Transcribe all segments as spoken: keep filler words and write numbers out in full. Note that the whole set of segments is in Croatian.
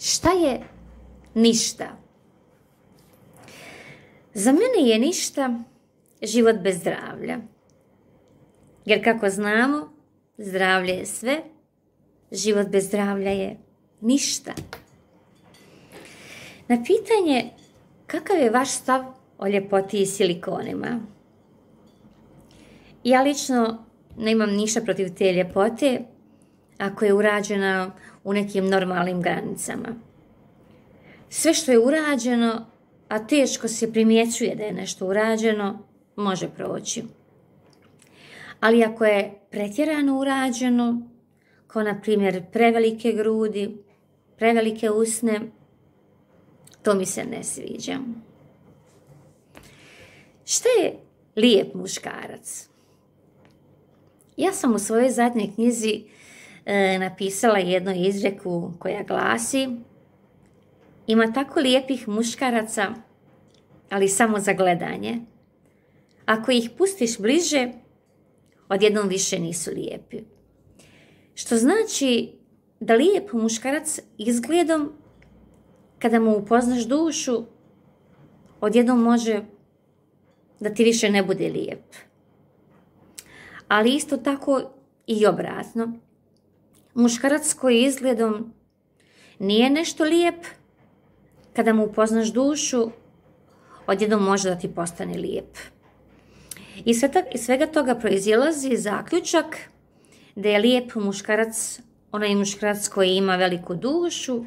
Šta je ništa? Za mene je ništa život bez zdravlja. Jer kako znamo, zdravlje je sve, život bez zdravlja je ništa. Na pitanje kakav je vaš stav o ljepoti i silikonima? Ja lično nemam ništa protiv te ljepote ako je urađena u nekim normalnim granicama. Sve što je urađeno, a teško se primjećuje da je nešto urađeno, može proći. Ali ako je pretjerano urađeno, kao na primjer prevelike grudi, prevelike usne, to mi se ne sviđa. Šta je lijep muškarac? Ja sam u svojoj zadnjoj knjizi e, napisala jednu izreku koja glasi: ima tako lijepih muškaraca, ali samo za gledanje. Ako ih pustiš bliže, odjednom više nisu lijepi. Što znači da lijep muškarac izgledom, kada mu upoznaš dušu, odjednom može da ti više ne bude lijep. Ali isto tako i obratno. Muškarac koji izgledom nije nešto lijep, kada mu upoznaš dušu, odjednom može da ti postane lijep. I svega toga proizilazi zaključak da je lijep muškarac onaj muškarac koji ima veliku dušu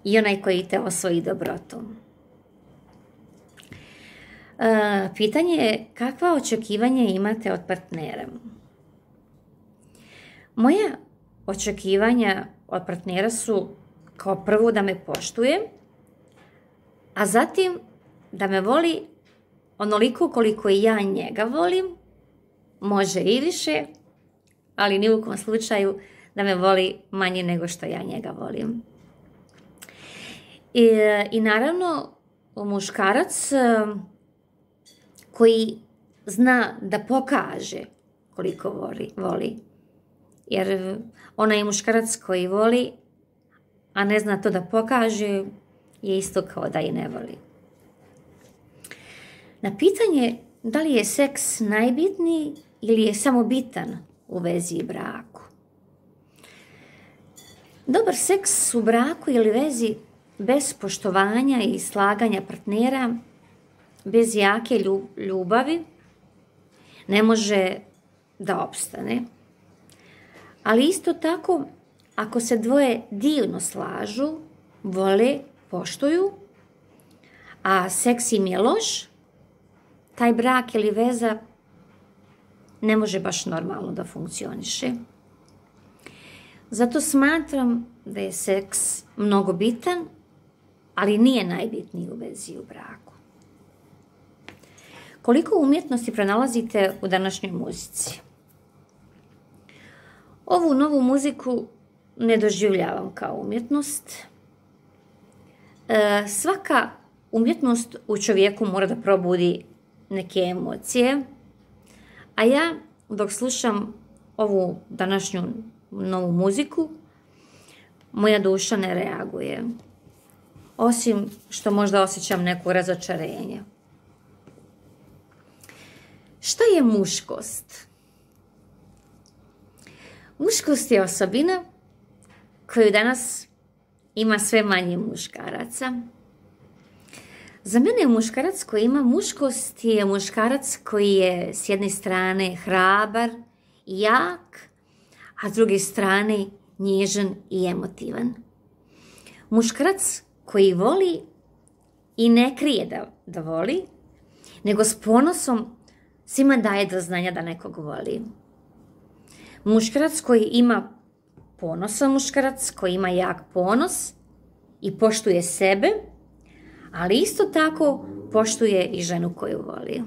i onaj koji te osvoji dobrotom. E, pitanje je kakva očekivanja imate od partnera? Moja očekivanja od partnera su kao prvo da me poštuje, a zatim da me voli onoliko koliko i ja njega volim, može i više, ali ni u kom slučaju da me voli manje nego što ja njega volim. I, i naravno, muškarac koji zna da pokaže koliko voli, voli. Jer onaj muškarac koji voli, a ne zna to da pokaže, je isto kao da i ne voli. Na pitanje da li je seks najbitniji ili je samo bitan u vezi i braku. Dobar seks u braku ili vezi bez poštovanja i slaganja partnera, bez jake ljubavi, ne može da opstane. Ali isto tako, ako se dvoje divno slažu, vole, poštuju, a seks im je loš, taj brak ili veza ne može baš normalno da funkcioniše. Zato smatram da je seks mnogo bitan, ali nije najbitniji u vezi u braku. Koliko umjetnosti pronalazite u današnjoj muzici? Ovu novu muziku ne doživljavam kao umjetnost. E, svaka umjetnost u čovjeku mora da probudi neke emocije, a ja dok slušam ovu današnju novu muziku, moja duša ne reaguje, osim što možda osjećam neko razočarenje. Šta je muškost? Muškost je osobina koju danas ima sve manje muškaraca. Za mene muškarac koji ima muškost je muškarac koji je s jedne strane hrabar i jak, a s druge strane nježan i emotivan. Muškarac koji voli i ne krije da, da voli, nego s ponosom svima daje do znanja da nekog voli. Muškarac koji ima ponosan muškarac, koji ima jak ponos i poštuje sebe, ali isto tako poštuje i ženu koju voli.